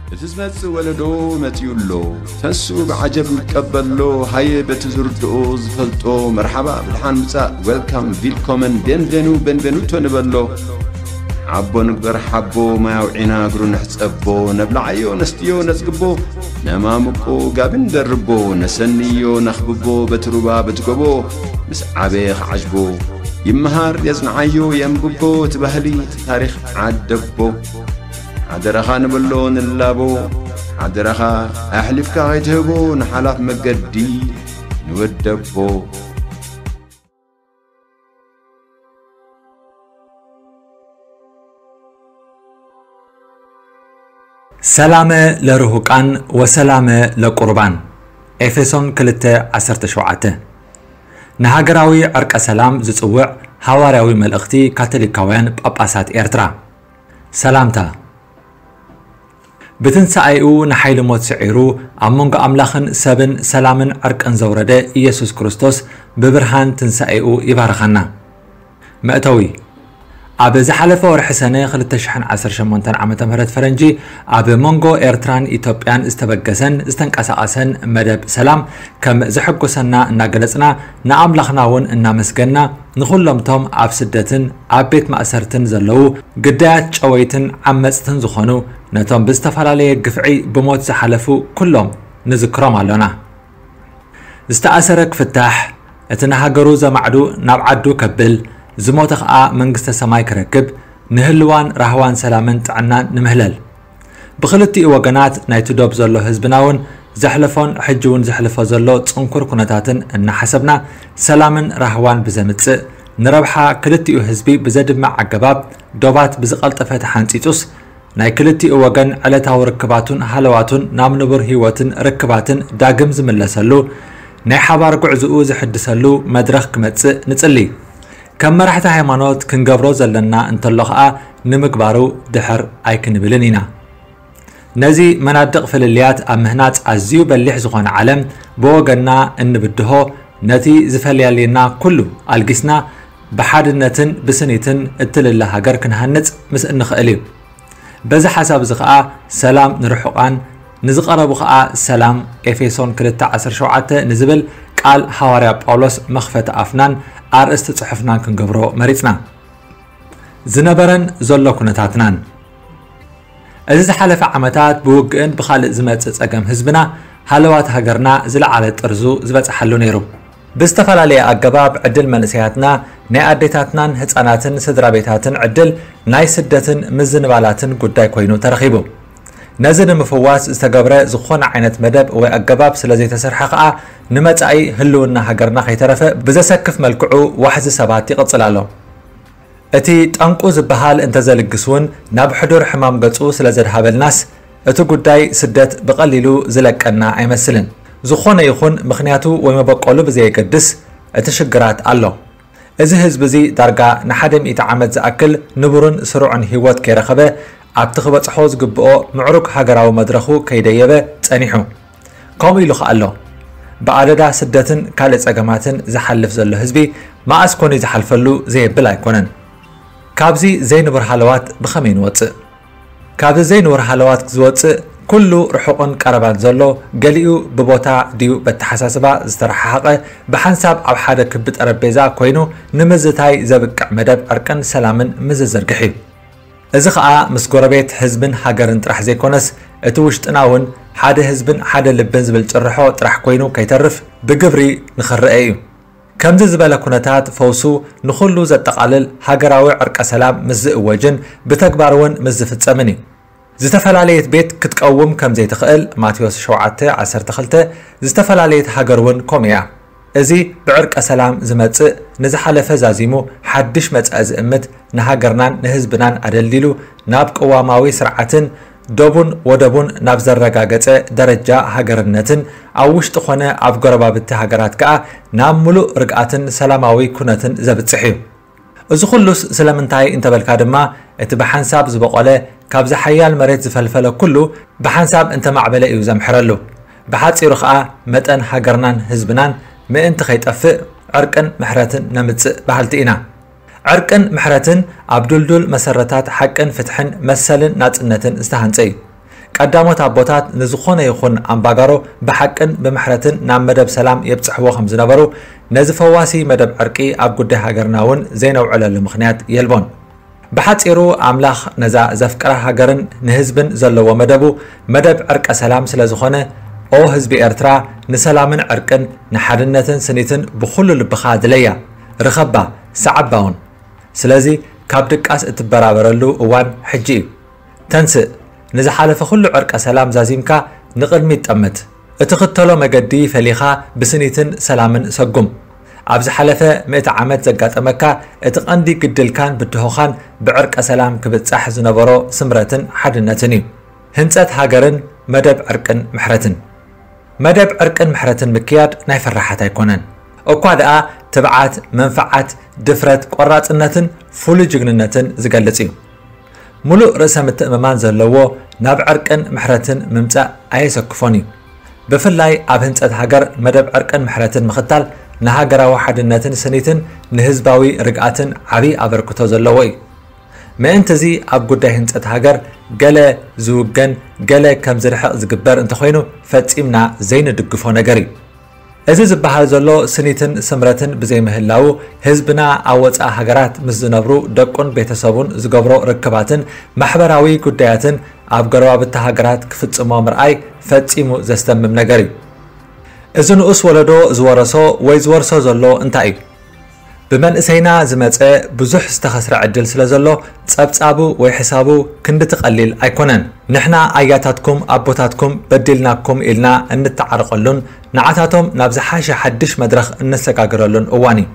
እቲ ዝመጽእ ወለዶ መጺኡ ኣሎ። ተንስኡ ብዓጀብ ንቀበሎ። ሃየ በቲ ዝርድኦ ዝፈልጦ መርሓባ ብድሓን ምጻእ፣ ዌልካም፣ ቪልኮመን፣ ቤንቬኑ፣ ቤንቬኑቶ ንበሎ። ሓቦ ንግበር ሓቦ፣ ማይ ኣውዒና እግሩ ንሕጸቦ። ነብልዓዮ ነስትዮ ነጽግቦ፣ ነማምቆ ጋቢ ንደርቦ። ነሰንዮ ነኽብቦ በቲ ሩባ በቲ ጎቦ። ምስ ዓበየ ክዓጅቦ፣ ይመሃር የጽንዓዮ የንብቦ። እቲ ባህሊ እቲ ታሪኽ ዓደቦ። ሓደራኻ ንበሎ ንላቦ፣ ሓደራኻ ኣሕሊፍካ ከይትህቦ ንሓላፍ መገዲ ንወደቦ። ሰላመ ለርሁቃን ወሰላመ ለቁርባን። ኤፌሶን ክልተ ዓሰርተ ሸውዓተ። ንሃገራዊ ዕርቀ ሰላም ዝጽውዕ ሃዋርያዊ መልእኽቲ ካቶሊካውያን ጳጳሳት ኤርትራ። ሰላምታ። ብትንሳኤኡ ንሓይሊ ሞት ስዒሩ ኣብ መንጎ ኣምላኽን ሰብን ሰላምን ዕርቅን ዘውረደ ኢየሱስ ክርስቶስ ብብርሃን ትንሳኤኡ ይባርኸና። መእተዊ። ኣብ ዝሓለፈ ወርሒ ሰነ ክልተ ሽሕን ዓሰርተ ሸሞንተን ዓመተ ምህረት ፈረንጂ ኣብ መንጎ ኤርትራን ኢትዮጵያን ዝተበገሰን ዝተንቀሳቐሰን መደብ ሰላም ከም ዘሐጎሰና እናገለጽና ንኣምላኽና እውን እናመስገና ንኹሎምቶም ኣብ ስደትን ኣብ ቤት ማእሰርትን ዘለዉ ግዳያት ጨወይትን ዓመጽትን ዝኾኑ ነቶም ብዝተፈላለየ ግፍዒ ብሞት ዝሓለፉ ኩሎም ንዝክሮም ኣሎና። ዝተኣሰረ ክፍታሕ፣ እቲ ንሃገሩ ዘማዕዱ ናብ ዓዱ ከብል፣ ዝሞተ ኸኣ መንግስተ ሰማይ ክረክብ፣ ንህልዋን ራህዋን ሰላምን ጥዕናን ንምህለል። ብኽልቲኡ ወገናት ናይቲ ዶብ ዘሎ ህዝብና እውን ዘሕለፎን ሕጂ እውን ዘሕልፎ ዘሎ ጽንኩር ኩነታትን እናሓሰብና፣ ሰላምን ራህዋን ብዘምጽእ፣ ንረብሓ ክልቲኡ ህዝቢ ብዘድምዕ ኣገባብ ዶባት ብዝቐልጠፈ ተሓንጺጹስ፣ ናይ ክልቲኡ ወገን ዕለታዊ ርክባቱን ሃለዋቱን ናብ ንቡር ህይወትን ርክባትን ዳግም ዝምለሰሉ፣ ናይ ሓባር ጉዕዝኡ ዝሕድሰሉ መድረኽ ክመጽእ ንጽሊ። ከም መራሕቲ ሃይማኖት ክንገብሮ ዘለና እንተሎ ኸኣ ንምግባሩ ድሕር ኣይክንብልን ኢና። ነዚ መናድቕ ፍልልያት ኣብ ምህናጽ ኣዝዩ በሊሕ ዝኾነ ዓለም ብወገንና እንብድሆ፣ ነቲ ዝፈለያልየና ኩሉ ኣልጊስና ብሓድነትን ብስኒትን እትልለ ሃገር ክንሃንጽ ምስ እንኽእል እዩ። በዚ ሓሳብ እዚ ኸኣ ሰላም ንርሑቓን ንዝቐረቡ ኸኣ ሰላም ኤፌሶን ክልተ ዓሰርተ ሸውዓተ ንዝብል ቃል ሃዋርያ ጳውሎስ መኽፈቲ ኣፍናን ኣርእስቲ ጽሑፍናን ክንገብሮ መሪጽና። ዝነበረን ዘሎ ኩነታትናን። እዚ ዝሓለፈ ዓመታት ብውግእን ብኻልእ ዝመጽእ ጸገም ህዝብና ሃለዋት ሃገርና ዝለዓለ ጥርዙ ዝበጽሓሉ ነይሩ። ብዝተፈላለየ ኣገባብ ዕድል መንእሰያትና፣ ናይ ኣዴታትናን ህጻናትን ስድራ ቤታትን ዕድል ናይ ስደትን ምዝንባላትን ጉዳይ ኮይኑ ተረኺቡ። ነዚ ንምፍዋስ ዝተገብረ ዝኾነ ዓይነት መደብ ወይ ኣገባብ ስለ ዘይተሰርሐ ከኣ ንመጻኢ ህልውና ሃገርና ከይተረፈ ብዘሰክፍ መልክዑ ዋሕዚ ሰባት ይቕጽል ኣሎ። እቲ ጠንቁ ዝበሃል እንተዘልግስ እውን ናብ ሕዱር ሕማም ገጹ ስለ ዘድሃበልናስ እቲ ጉዳይ ስደት ብቐሊሉ ዝለቀና ኣይመስልን። ዝኾነ ይኹን ምኽንያቱ ወይ መበቆሉ ብዘየገድስ እቲ ሽግራት ኣሎ። እዚ ህዝቢ እዚ ዳርጋ ንሓደ ሚእቲ ዓመት ዝኣክል ንቡርን ስሩዕን ህይወት ከይረኸበ ኣብቲ ክበጽሖ ዝግብኦ ምዕሩግ ሃገራዊ መድረኹ ከይደየበ ጸኒሑ። ከምኡ ኢሉ ኸኣ ኣሎ። ብኣደዳ ስደትን ካልእ ጸገማትን ዝሓልፍ ዘሎ ህዝቢ መኣስ ኮን እዩ ዝሓልፈሉ ዘየብል ኣይኮነን። ካብዚ ዘይንቡር ሃለዋት ብኸመይ ንወጽእ? ካብዚ ዘይንቡር ሃለዋት ዝወጽእ ኩሉ ርሑቕን ቀረባን ዘሎ፣ ገሊኡ ብቦታ ድዩ በተሓሳስባ ዝተረሓሓቐ፣ ብሓንሳብ ኣብ ሓደ ክቢ ጠረጴዛ ኮይኑ ንምዝታይ ዘብቅዕ መደብ ዕርቅን ሰላምን ምዝዝርግሕ እዩ። እዚ ኸኣ ምስ ጎረቤት ህዝብን ሃገርን ጥራሕ ዘይኮነስ፣ እቲ ውሽጥና እውን ሓደ ህዝብን ሓደ ልብን ዝብል ጭርሖ ጥራሕ ኮይኑ ከይተርፍ ብግብሪ ንኽረአ እዩ። ከምዚ ዝበለ ኩነታት ፈውሱ ንኹሉ ዘጠቓልል ሃገራዊ ዕርቀ ሰላም ምስ ዝእወጅን ብተግባር እውን ምስ ዝፍጸምን እዩ። ዝተፈላለየት ቤት ክትቀውም ከም ዘይትኽእል፣ ማቴዎስ ሸውዓተ ዓሰርተ ክልተ፣ ዝተፈላለየት ሃገር እውን ከምኡ እያ። እዚ ብዕርቀ ሰላም ዝመጽእ፣ ንዝሓለፈ ዛዚሙ ሓድሽ መጻኢ ዝእምት፣ ንሃገርናን ንህዝብናን ኣደልዲሉ ናብ ቅዋማዊ ስርዓትን ዶቡን ወደቡን ናብ ዘረጋገጸ ደረጃ ሃገርነትን ኣብ ውሽጢ ኾነ ኣብ ጎረባብቲ ሃገራት ከኣ ናብ ምሉእ ርግኣትን ሰላማዊ ኩነትን ዘብጽሕ እዩ። እዚ ኹሉስ ስለምንታይ እንተበልካ ድማ፣ እቲ ብሓንሳብ ዝበቖለ ካብዚ ሓያል መሬት ዝፈልፈለ ኩሉ ብሓንሳብ እንተማዕበለ እዩ ዘምሕረሉ። ብሓጺሩ ኸኣ መጠን ሃገርናን ህዝብናን ምእንቲ ከይጠፍእ ዕርቅን ምሕረትን ነምጽእ በሃልቲ ኢና። ዕርቅን ምሕረትን ኣብ ድልዱል መሰረታት ሓቅን ፍትሕን መሰልን ናጽነትን ዝተሃንጸ እዩ። ቀዳሞት ኣቦታት ንዝኾነ ይኹን ኣምባጋሮ ብሓቅን ብምሕረትን ናብ መደብ ሰላም የብጽሕዎ ከም ዝነበሩ፣ ነዚ ፈዋሲ መደብ ዕርቂ ኣብ ጉዳይ ሃገርና እውን ዘይነውዕለሉ ምኽንያት የልቦን። ብሓጺሩ ኣምላኽ ነዛ ዘፍቅራ ሃገርን ንህዝብን ዘለዎ መደቡ መደብ ዕርቀ ሰላም ስለ ዝኾነ፣ ኦ ህዝቢ ኤርትራ፣ ንሰላምን ዕርቅን፣ ንሓድነትን ስኒትን ብኹሉ ልብኻ ድለያ፣ ርኸባ፣ ሰዓባ እውን። ስለዚ ካብ ድቃስ እትበራበረሉ እዋን ሕጂ እዩ። ተንስእ፣ ንዝሓለፈ ኩሉ ዕርቀ ሰላም ዛዚምካ ንቕድሚት ጠምት። እትኽተሎ መገዲ ፈሊኻ ብስኒትን ሰላምን ሰጉም። ኣብ ዝሓለፈ ምእቲ ዓመት ዘጋጠመካ እቲ ቀንዲ ግድልካን ብድሆኻን ብዕርቀ ሰላም ክብጻሕ ዝነበሮ ስምረትን ሓድነትን እዩ። ህንጸት ሃገርን መደብ ዕርቅን ምሕረትን። መደብ ዕርቅን ምሕረትን ምክያድ ናይ ፈራሓት ኣይኮነን። እኳ ደኣ ትብዓት፣ መንፍዓት፣ ድፍረት፣ ቆራጽነትን ፍሉይ ጅግንነትን ዝገልጽ እዩ። ሙሉእ ርእሰ ምትእምማን ዘለዎ ናብ ዕርቅን ምሕረትን ምምጻእ ኣየሰክፎን እዩ። ብፍላይ ኣብ ህንጸት ሃገር መደብ ዕርቅን ምሕረትን ምኽታል ንሃገራዊ ሓድነትን ስኒትን ንህዝባዊ ርግኣትን ዓቢ ኣበርክቶ ዘለዎ እዩ። ምእንቲ እዚ ኣብ ጉዳይ ህንጸት ሃገር ገለ ዝውገን፣ ገለ ከም ዝርሕቕ ዝግበር እንተኾይኑ ፈጺምና ዘይንድግፎ ነገር እዩ። እዚ ዝበሃል ዘሎ ስኒትን ስምረትን ብዘይምህላዉ ህዝብና ኣብ ወጻኢ ሃገራት ምስ ዝነብሩ ደቁን ቤተሰቡን ዝገብሮ ርክባትን ማሕበራዊ ጉዳያትን ኣብ ጎረባብቲ ሃገራት ክፍጽሞ ምርኣይ ፈጺሙ ዘስደምም ነገር እዩ። እዚ ንኡስ ወለዶ ዝወረሶ ወይ ዝወርሶ ዘሎ እንታይ እዩ? ብመንእሰይና ዝመጸ ብዙሕ ዝተኸስረ ዕድል ስለ ዘሎ፣ ጸብጻቡ ወይ ሕሳቡ ክንድቲ ቀሊል ኣይኮነን። ንሕና ኣያታትኩም ኣቦታትኩም በዲልናኩም ኢልና እንተዓረቐሉን ንዓታቶም ናብ ዝሓሸ ሓድሽ መድረኽ እነሰጋግረሉን እዋን እዩ።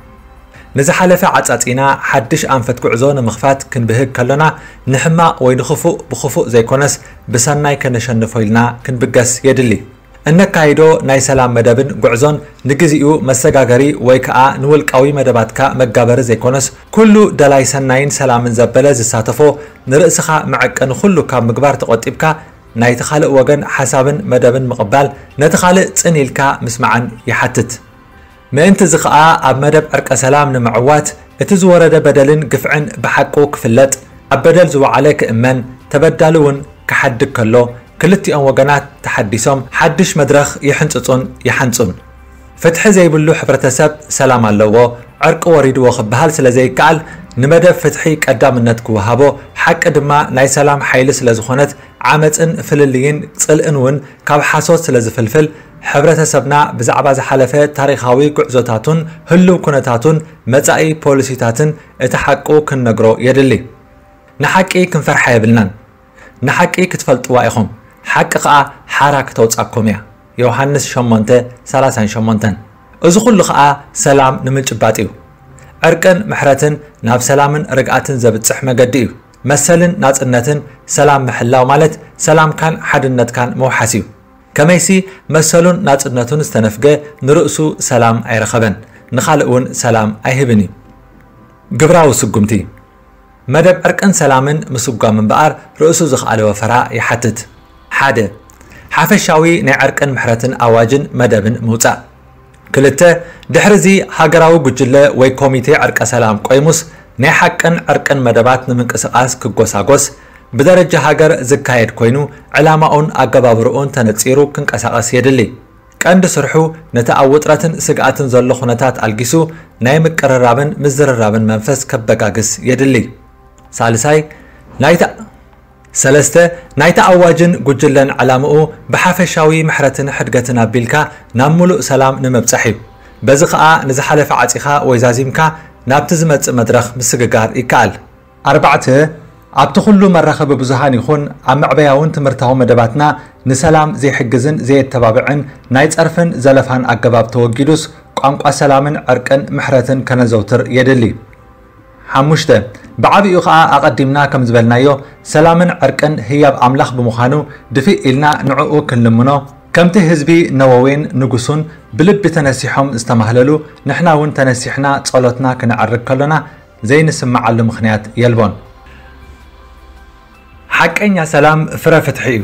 ንዝሓለፈ ዓጻጺና ሓድሽ ኣንፈት ጉዕዞ ንምኽፋት ክንብህግ ከሎና፣ ንሕማቕ ወይ ንኽፉእ ብኽፉእ ዘይኮነስ ብሰናይ ከነሸንፎ ኢልና ክንብገስ የድሊ። እነካይዶ ናይ ሰላም መደብን ጉዕዞን ንግዚኡ መሰጋገሪ ወይ ከኣ ንውልቃዊ መደባትካ መጋበሪ ዘይኮነስ፣ ኩሉ ደላይ ሰናይን ሰላምን ዘበለ ዝሳተፎ፣ ንርእስኻ መዐቀኒ ኩሉ ካብ ምግባር ተቖጢብካ፣ ናይቲ ካልእ ወገን ሓሳብን መደብን ምቕባል፣ ነቲ ካልእ ጽን ኢልካ ምስማዕን ይሓትት። ምእንቲ እዚ ኸኣ ኣብ መደብ ዕርቀ ሰላም ንምዕዋት እቲ ዝወረደ በደልን ግፍዕን ብሓቁ ክፍለጥ፣ ኣብ በደል ዝወዓለ ክእመን፣ ተበዳሊ እውን ክሓድግ ከሎ፣ ክልቲኦም ወገናት ተሓዲሶም ሓድሽ መድረኽ ይሕንጽጹን ይሓንጹን። ፍትሒ ዘይብሉ ሕብረተሰብ ሰላም ኣለዎ፣ ዕርቂ ወሪድዎ ክበሃል ስለ ዘይከኣል፣ ንመደብ ፍትሒ ቀዳምነት ክወሃቦ፣ ሓቂ ድማ ናይ ሰላም ሓይሊ ስለ ዝኾነት፣ ዓመጽን ፍልልይን ጽልእን እውን ካብ ሓሶት ስለ ዝፍልፍል፣ ሕብረተሰብና ብዛዕባ ዝሓለፈ ታሪኻዊ ጉዕዞታቱን ህሉው ኩነታቱን መጻኢ ፖሊሲታትን እቲ ሓቁ ክንነግሮ የድሊ። ንሓቂ ክንፈርሓ የብልናን። ንሓቂ ክትፈልጥዋ ኢኹም፣ ሓቂ ኸኣ ሓራ ክተውጻኩም እያ። ዮሃንስ ሸሞንተ ሰላሳን ሸሞንተን። እዚ ኹሉ ኸኣ ሰላም ንምጭባጥ እዩ። ዕርቅን ምሕረትን ናብ ሰላምን ርግኣትን ዘብጽሕ መገዲ እዩ። መሰልን ናጽነትን ሰላም ምሕላው ማለት ሰላምካን ሓድነትካን ምውሓስ እዩ። ከመይሲ መሰሉን ናጽነቱን ዝተነፍገ ንርእሱ ሰላም ኣይረኸበን፣ ንኻልእ እውን ሰላም ኣይህብን እዩ። ግብራዊ ስጉምቲ። መደብ ዕርቅን ሰላምን ምስጓም እምበኣር ርእሱ ዝኸኣለ ወፈራ ይሓትት። ሓደ፣ ሓፈሻዊ ናይ ዕርቅን ምሕረትን ኣዋጅን መደብን ምውጻእ። ክልተ፣ ድሕሪ እዚ ሃገራዊ ጉጅለ ወይ ኮሚቴ ዕርቀ ሰላም ቆይሙስ ናይ ሓቅን ዕርቅን መደባት ንምንቅስቓስ ክጎሳጎስ፣ ብደረጃ ሃገር ዝካየድ ኮይኑ ዕላማኡን ኣገባብርኡን ተነጺሩ ክንቀሳቐስ የድሊ። ቀንዲ ስርሑ ነቲ ኣብ ውጥረትን ስግኣትን ዘሎ ኩነታት ኣልጊሱ ናይ ምቅርራብን ምዝርራብን መንፈስ ከበጋግስ የድሊ። ሳልሳይ፣ ናይታ ሰለስተ፣ ናይቲ ኣዋጅን ጉጅለን ዕላምኡ ብሓፈሻዊ ምሕረትን ሕድገትን ኣቢልካ ናብ ምሉእ ሰላም ንምብጻሕ እዩ። በዚ ኸኣ ንዝሓለፈ ዓጺኻ ወይ ዛዚምካ ናብቲ ዝመጽእ መድረኽ ምስግጋር ይከኣል። ኣርባዕተ፣ ኣብቲ ኩሉ መራኸቢ ብዙሃን ይኹን ኣብ መዕበያውን ትምህርታዊ መደባትና ንሰላም ዘይሕግዝን ዘየተባብዕን ናይ ጸርፍን ዘለፋን ኣገባብ ተወጊዱስ ቋንቋ ሰላምን ዕርቅን ምሕረትን ከነዘውትር የድሊ። ሓሙሽተ፣ ብዓቢኡ ኸኣ ኣቐዲምና ከም ዝበልናዮ ሰላምን ዕርቅን ህያብ ኣምላኽ ብምዃኑ ድፍእ ኢልና ንዕኡ ክንልምኖ፣ ከምቲ ህዝቢ ነወዌን ንጉሱን ብልቢ ተነሲሖም ዝተማህለሉ ንሕና እውን ተነሲሕና ጸሎትና ክነዕርግ ከሎና ዘይንስምዓሉ ምኽንያት የልቦን። ሓቀኛ ሰላም ፍረ ፍትሒ እዩ።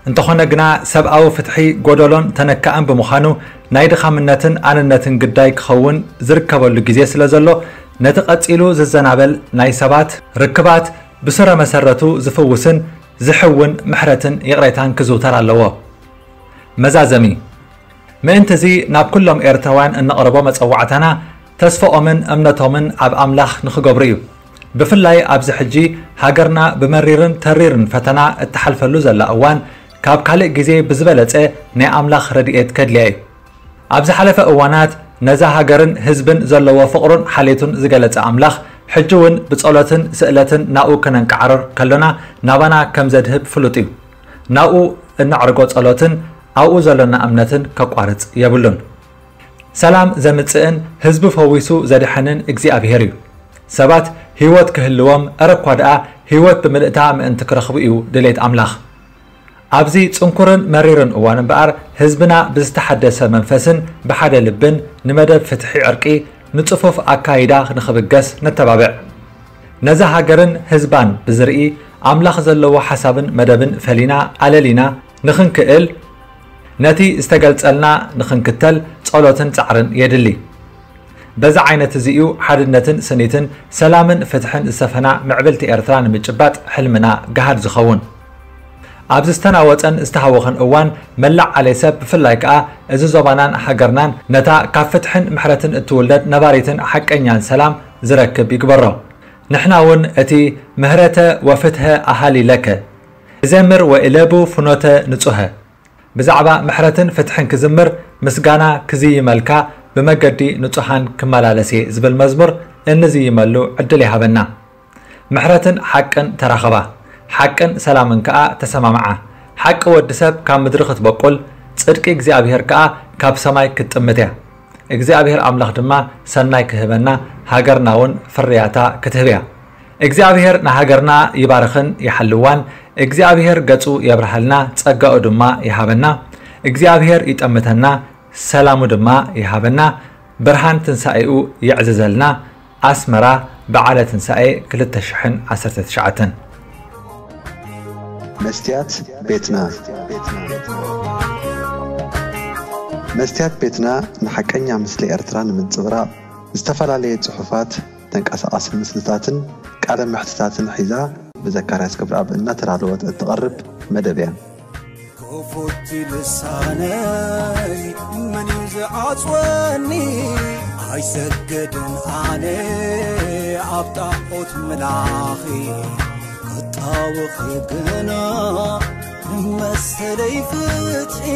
እንተኾነ ግና ሰብኣዊ ፍትሒ ጎደሎን ተነካእን ብምዃኑ ናይ ድኻምነትን ኣንነትን ግዳይ ክኸውን ዝርከበሉ ግዜ ስለ ዘሎ ነቲ ቀጺሉ ዝዘናበል ናይ ሰባት ርክባት ብስረ መሰረቱ ዝፍውስን ዝሕውን ምሕረትን ይቕሬታን ክዝውተር ኣለዎ። መዛዘሚ። ምእንቲ እዚ ናብ ኩሎም ኤርትራውያን እነቕርቦ መጸዋዕታና፣ ተስፋኦምን እምነቶምን ኣብ ኣምላኽ ንኽገብሩ እዩ። ብፍላይ ኣብዚ ሕጂ ሃገርና ብመሪርን ተሪርን ፈተና እትሓልፈሉ ዘላ እዋን፣ ካብ ካልእ ግዜ ብዝበለጸ ናይ ኣምላኽ ረድኤት ከድልያ እዩ። ኣብ ዝሓለፈ እዋናት ነዛ ሃገርን ህዝብን ዘለዎ ፍቕሩን ሓልየቱን ዝገለጸ ኣምላኽ፣ ሕጂ እውን ብጸሎትን ስእለትን ናብኡ ከነንቃዕርር ከሎና ናባና ከም ዘድህብ ፍሉጥ እዩ። ናብኡ እነዕርጎ ጸሎትን ኣብኡ ዘሎና እምነትን ከቋርጽ የብሉን። ሰላም ዘምጽእን ህዝቢ ፈዊሱ ዘድሕንን እግዚኣብሔር እዩ። ሰባት ህይወት ክህልዎም፣ እረ እኳ ደኣ ህይወት ብምልእታ ምእንቲ ክረኽቡ እዩ ድሌት ኣምላኽ። ኣብዚ ጽንኩርን መሪርን እዋን እምበኣር፣ ህዝብና ብዝተሓደሰ መንፈስን ብሓደ ልብን ንመደብ ፍትሒ ዕርቂ፣ ንጽፉፍ ኣካይዳ ንኽብገስ ነተባብዕ። ነዛ ሃገርን ህዝባን ብዝርኢ፣ ኣምላኽ ዘለዎ ሓሳብን መደብን ፈሊና ኣለሊና ንኽንክእል፣ ነቲ ዝተገልጸልና ንኽንክተል ጸሎትን ጻዕርን የድሊ። በዚ ዓይነት እዚ እዩ ሓድነትን ስኒትን ሰላምን ፍትሕን ዝሰፈና ምዕብልቲ ኤርትራ ንምጭባጥ ሕልምና ገሃድ ዝኸውን። ኣብዚ ዝተናወጸን ዝተሃወኸን እዋን፣ መላእ ዓሌ ሰብ፣ ብፍላይ ከኣ እዚ ዞባናን ሃገርናን፣ ነታ ካብ ፍትሕን ምሕረትን እትውለድ ነባሪትን ሓቀኛን ሰላም ዝረክብ ይግበሮ። ንሕና እውን እቲ ምህረተ ወፍትሐ ኣሃሊ ለከ እዘምር ወእለቡ ፍኖተ ንጹሀ፣ ብዛዕባ ምሕረትን ፍትሕን ክዝምር፣ ምስጋና ክዝይመልካ፣ ብመገዲ ንጹሃን ክመላለስ እየ ዝብል መዝሙር እንዝይመሉ ዕድል ይሃበና። ምሕረትን ሓቅን ተራኸባ፣ ሓቅን ሰላምን ከኣ ተሰማምዓ። ሓቂ ወዲ ሰብ ካብ ምድሪ ክትበቁል፣ ጽድቂ እግዚኣብሔር ከኣ ካብ ሰማይ ክትጥምት እያ። እግዚኣብሔር ኣምላኽ ድማ ሰናይ ክህበና፣ ሃገርና እውን ፍርያታ ክትህብ እያ። እግዚኣብሔር ንሃገርና ይባርኽን ይሓልዋን። እግዚኣብሔር ገጹ የብርሃልና፣ ጸጋኡ ድማ ይሃበና። እግዚኣብሔር ይጠምተና፣ ሰላሙ ድማ ይሃበና። ብርሃን ትንሳኤኡ የዕዝዘልና። ኣስመራ፣ በዓለ ትንሳኤ ክልተ ሽሕን ዓሰርተ ትሽዓተን። መስትያት ቤትና። መስትያት ቤትና ንሓቀኛ ምስሊ ኤርትራ ንምንጽብራቕ፣ ዝተፈላለየ ጽሑፋት፣ ተንቀሳቓሲ ምስልታትን ቃለ መሕትታትን ሒዛ ብዘካርያስ ገብረኣብ እናተዳለወት እትቐርብ መደብ እያ። ክፉት ልሳነይ መን እዩ ዝዓጽወኒ? ኣይሰግድን ኣነ ኣብ ጣዖት ምላኺ፣ ክጣወኺ ግና ንመሰለይ ፍትሒ።